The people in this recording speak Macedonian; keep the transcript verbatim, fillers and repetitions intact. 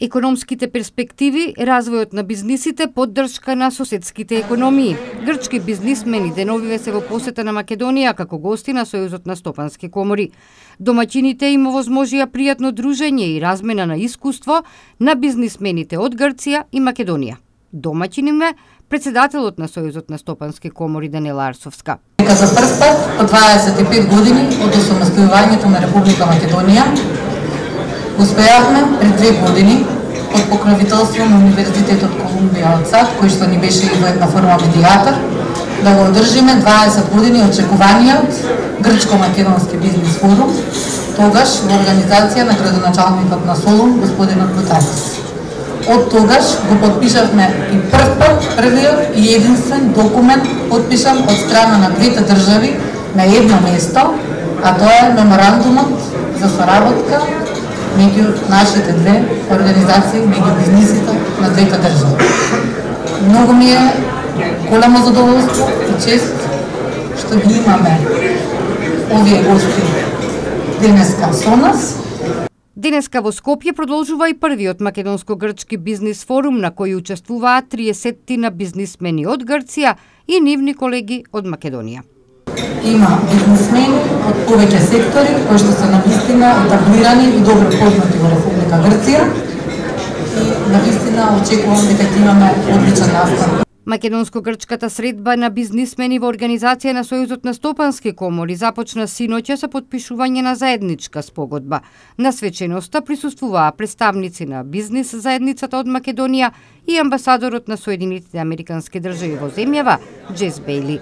Економските перспективи, развојот на бизнисите, поддршка на соседските економии. Грчки бизнисмени деновиве се во посета на Македонија како гости на Сојузот на стопански комори. Домаќините им овозможија пријатно дружење и размена на искуство на бизнисмените од Грција и Македонија. Домаќин им е председателот на Сојузот на стопански комори Даниела Арсовска. Дека за прв пат по дваесет и пет години од осамостојувањето на Република Македонија успеавме пред две години под покровителство на Универзитетот Колумбија од САД, кој што ни беше и во една форма медијатор, да го одржиме дваесет години очекуваниот грчко-македонски бизнис форум, тогаш во организација на градоначалникот на Солун, господинот Бутакис. Од тогаш го подпишавме и прв пат, првиот и единствен документ подпишан од страна на двете држави на едно место, а тоа е меморандумот за соработка меѓу нашите две организации, меѓу бизнисите на двете држави. Многу ми е големо задоволство и чест што ги имаме овие гости денеска со нас. Денеска во Скопје продолжува и првиот македонско-грчки бизнис форум на кој учествуваат триесеттина бизнисмени од Грција и нивни колеги од Македонија. Има бизнисмени од повеќе сектори кои што се навистина етаблирани и добро познати во Република Грција и навистина очекувам дека ќе имаме одличен настан. Македонско-грчката средба на бизнисмени во организација на Сојузот на стопански комори започна синоќа со подпишување на заедничка спогодба. На свеченоста присуствуваа представници на бизнис заедницата од Македонија и амбасадорот на Соединетите Американски држави во земјава Џес Бејли.